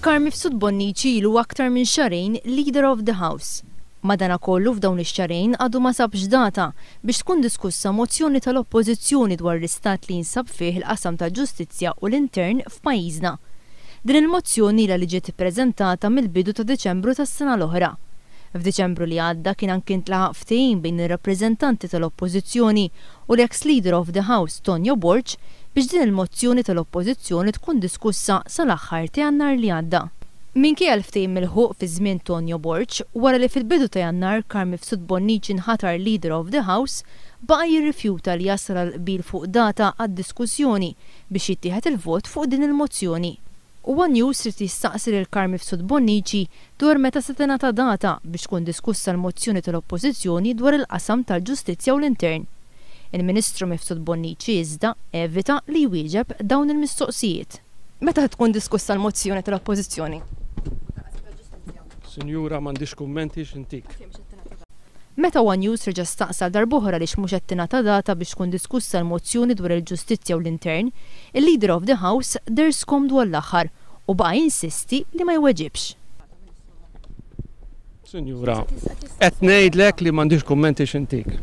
Carm Mifsud Bonnici ilu aktar minn xahrejn Leader of the House. Madanakollu f'dawn ix-xahrejn għadu ma sabx data biex tkun diskussa mozzjoni tal-Oppożizzjoni dwar l-istat li jinsab fih il-qasam tal-ġustizzja u l-intern f'pajjiżna. Din il-mozzjoni ilha li ġiet ippreżentata mill-bidu ta' Diċembru tas-sena l-oħra. F'Diċembru li għadda kien anki ntlaħaq ftehim bejn ir-rappreżentanti tal-Oppożizzjoni u l-eks Leader of the House Tonio Borg biex din il-mozzjoni tal-Oppożizzjoni tkun diskussa sal-aħħar ta' Jannar li għadda. Minkejja l-ftehim milħuq fi żmien Tonio Borg, wara li fil-bidu ta' Jannar Carm Mifsud Bonnici nħatar Leader of the House, baqa' jirrifjuta li jasal għal qbil fuq data għad-diskussjoni biex jittieħed il-vot fuq din il-mozzjoni. One News ried jistaqsi lil Carm Mifsud Bonnici dwar meta se tingħata data biex tkun diskussa l-mozzjoni tal-Oppożizzjoni dwar il-qasam tal-ġustizzja u l-intern. Il-Ministru Mifsud Bonnici iżda evita li jwieġeb dawn il-mistoqsijiet. Meta tkun diskussa l-mozzjoni tal-Oppożizzjoni? Sinjura, m'għandix kummenti x'intik. Meta one News reġa' staqsa għal darb'oħra għaliex mhux qed tingħata data biex tkun diskussa l-mozzjoni dwar il-ġustizzja u l-intern, il-Leader of the House deher skomdu għall-aħħar u baqa' jinsisti li ma jweġibx. Sinjura, qed ngħidlek li m'għandix kummenti x'intik.